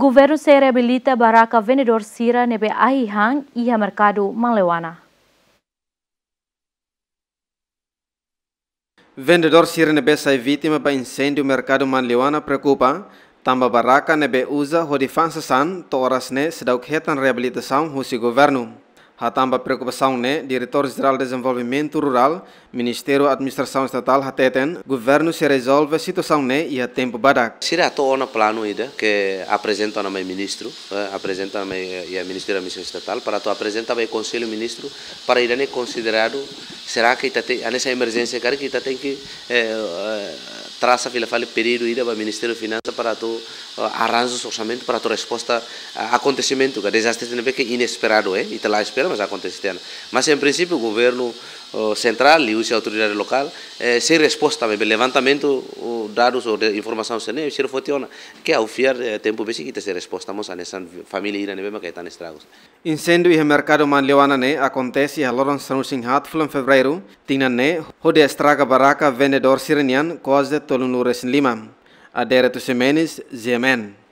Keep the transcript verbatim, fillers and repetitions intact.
Governu sei reabilita barraka vendedór sira ne'ebé ahi han iha merkadu Manleuana. Vendedór sira ne'ebé sai vítima ba insêndiu merkadu Manleuana preokupa, tanba barraka ne'ebé uza hodi fa'an sasán to'o oras ne'e seidauk hetan reabilitasaun husi governu. Hatán ba preokupasaun ne'e, Diretór Jerál Dezenvolvimentu Rurál, Ministériu Administrasaun Estatál hateten, governu sei rezolve situasaun ne'e iha tempu badak. Sira atu ona planu ida ke aprezenta ona mai ministru, eh, aprezenta ona mai, eh, iha Ministériu Administrasaun Estatál, para atu aprezenta ba Konsellu Ministru, para ida-ne'e konsideradu, será que ita te, hanesan emerjénsia karik ita tenke, eh, eh, trasa fila fali pedidu ida ba Ministériu Finansa para atu, eh, arranja orsamentu para atu resposta a akontesimentu, ka dezastre ne'ebé ke inesperadu, eh, ita la espera, mas akontese tiha ona. Mas em princípio governu, eh, sentrál, liuhusi autoridade lokál, eh, sei resposta, maibé levantamentu, o, dadus ou de, informasaun sira-ne'e, sira foti ona. Ke ha'u fiar, eh, tempu besik ita sei resposta mós hanesan família ida ne'ebé maka hetan estragus. Insêndiu iha merkadu Manleuana ne'e akontese iha loron sanulu-resin-haat fulan Fevereiru tinan ne'e, hodi estraga barraka vendedór sira-nian kuaze tolunulu-resin-lima. Adérito Ximenes, G M N.